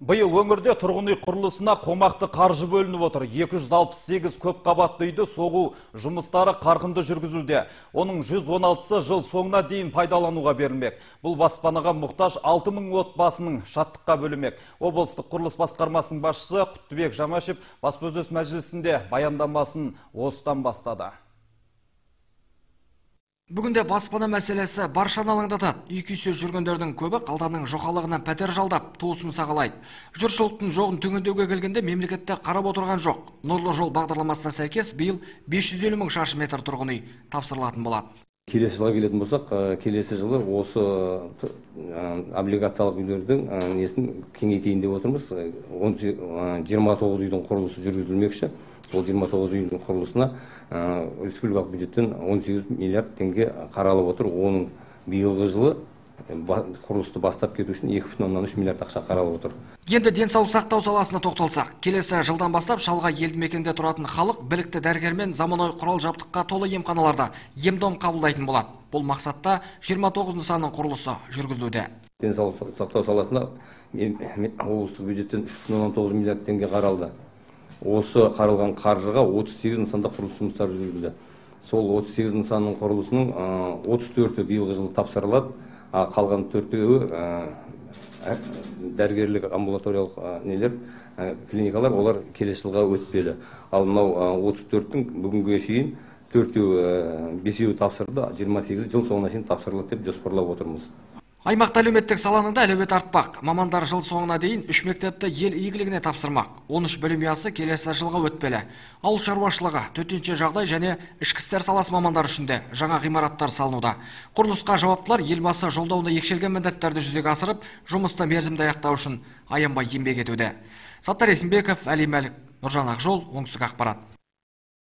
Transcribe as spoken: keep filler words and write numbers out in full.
Биыл өңірде тұрғын үй құрылысына қомақты қаржы бөлініп отыр. екі жүз алпыс сегіз көп қабатты үйді соғу жұмыстары қарқынды жүргізілді. Оның жүз он алтысы жыл соңына дейін пайдалануға берілмек. Бұл баспанаға мұқтаж алты мың отбасының шаттыққа бөлінмек. Облыстық құрылыс басқармасының басшысы Құттыбек Жамашев баспасөз мәжілісінде баяндамасын осыдан бастады. Бүгінде баспана мәселесі баршаны алаңдатады. Үй күйсіз жүргендердің көбі қалданның жоқалығынан пәтер жалдап, туысын сағалайды. Жұртшылықтың жоғын түңендеуге келгенде мемлекетте қарап отырған жоқ. Нұрлы жол бағдарламасына сәйкес биыл бес жүз елу мың шаршы метр тұрғын үй тапсырылатын болады. Келесі жылға келетін болсақ, келесі жылы осы облигациялық үйлердің несін кеңейтейін деп отырмыз. жиырма тоғыз үйдің құрылысы жүргізілмекші. Ол жиырма тоғыз үйдің құрылысына республикалық бюджеттен он сегіз миллиард теңге қаралып отыр. Оның биылғы жылы құрылысты бастап кету үшін екі бүтін оннан үш миллиард ақша қаралып отыр. Енді денсаулық сақтау саласына тоқталсақ, келесі жылдан бастап шалғай елді мекенде тұратын халық білікті дәрігермен заманауи құрал жабдыққа толы емханаларда ем-дом қабылдайтын болады. Бұл мақсатта жиырма тоғыз нысанның құрылысы жүргізілуде. Денсаулық сақтау саласына облыстық бюджеттен үш бүтін оннан тоғыз миллиард теңге қаралды. Осы қаралған қаржыға отыз сегіз нысанда құрылыс жұмыстары жүргізілді. Сол отыз сегіз нысанның құрылысының отыз төрті биылғы жылы тапсырылады. Қалған төртеуі дәрігерлік амбулаториялық нелер, клиникалар, олар келесі жылға өтпелі. Ал мынау отыз төрттің бүгінге шейін төртеуі, бесеуі тапсырды, жиырма сегізі жыл соңына шейін тапсырылады деп жоспарлап отырмыз. Аймақта әлеуметтік саланың да әлеуеті артпақ. Мамандар жыл соңына дейін үш мектепті ел игілігіне тапсырмақ. он үш білім ұясы келесі жылға өтпелі. Ауыл шаруашылығы, төтенше жағдай және ішкі істер саласы мамандар үшін де жаңа ғимараттар салынуда. Құрылысқа жауаптылар елбасы жолдауында екшелген міндеттерді жүзеге асырып, жұмысты мерзімді аяқтау үшін аянбай еңбек етуде. Саттар Есімбеков, Әли Мәлік, Нұржан Ақжол, Оңтүстік ақпарат.